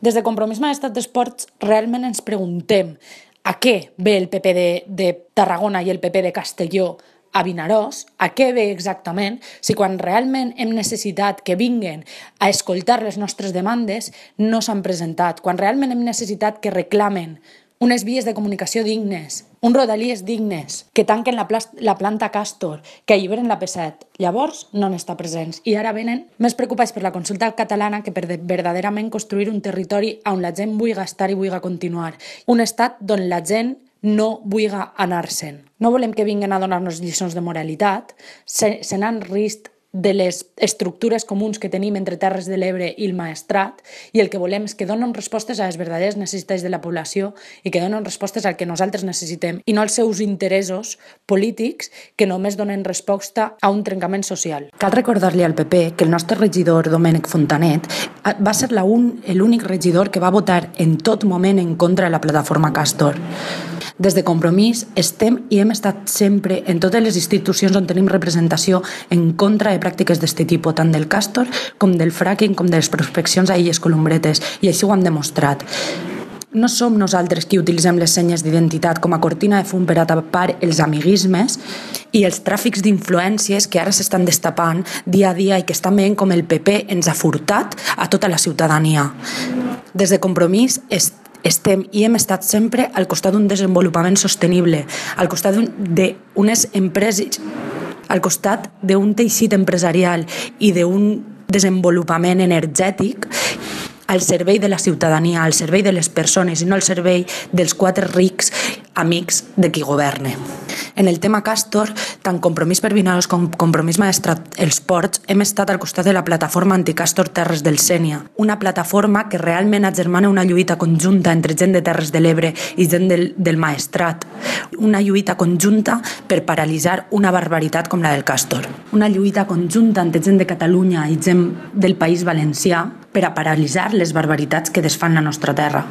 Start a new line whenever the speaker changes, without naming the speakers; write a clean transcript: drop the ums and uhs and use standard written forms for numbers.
Des de Compromís Maestrat d'Esports realment ens preguntem a què ve el PP de Tarragona i el PP de Castelló a Vinaròs, a què ve exactament, si quan realment hem necessitat que vinguen a escoltar les nostres demandes no s'han presentat, quan realment hem necessitat que reclamen unes vies de comunicació dignes, un rodalies dignes, que tanquen la planta Castor, que alliberen la P7. Llavors no n'està presents. I ara venen més preocupats per la consulta catalana que per verdaderament construir un territori on la gent vulgui estar i vulgui continuar. Un estat on la gent no vulgui anar-se'n. No volem que vinguin a donar-nos lliçons de moralitat, se n'han risc de les estructures comuns que tenim entre Terres de l'Ebre i el Maestrat, i el que volem és que donen respostes a les verdaderes necessitats de la població i que donen respostes al que nosaltres necessitem i no als seus interessos polítics que només donen resposta a un trencament social.
Cal recordar-li al PP que el nostre regidor Domènec Fontanet va ser l'únic regidor que va votar en tot moment en contra de la plataforma Castor. Des de Compromís estem i hem estat sempre en totes les institucions on tenim representació en contra de pràctiques d'aquest tipus, tant del Castor com del fracking com de les prospeccions a Illes Columbretes, i així ho han demostrat. No som nosaltres qui utilitzem les senyes d'identitat com a cortina de fum per a tapar els amiguismes i els tràfics d'influències que ara s'estan destapant dia a dia i que estan veient com el PP ens ha furtat a tota la ciutadania. Des de Compromís estem i hem estat sempre al costat d'un desenvolupament sostenible, al costat d'unes empreses, al costat d'un teixit empresarial i d'un desenvolupament energètic al servei de la ciutadania, al servei de les persones i no al servei dels 4 rics amics de qui governa. En el tema Castor, tant Compromís per Vinaròs com Compromís Maestrat d'Esports hem estat al costat de la plataforma Anticastor Terres del Sénia, una plataforma que realment agermana una lluita conjunta entre gent de Terres de l'Ebre i gent del Maestrat, una lluita conjunta per paralitzar una barbaritat com la del Castor, una lluita conjunta entre gent de Catalunya i gent del País Valencià per a paralitzar les barbaritats que desfan la nostra terra.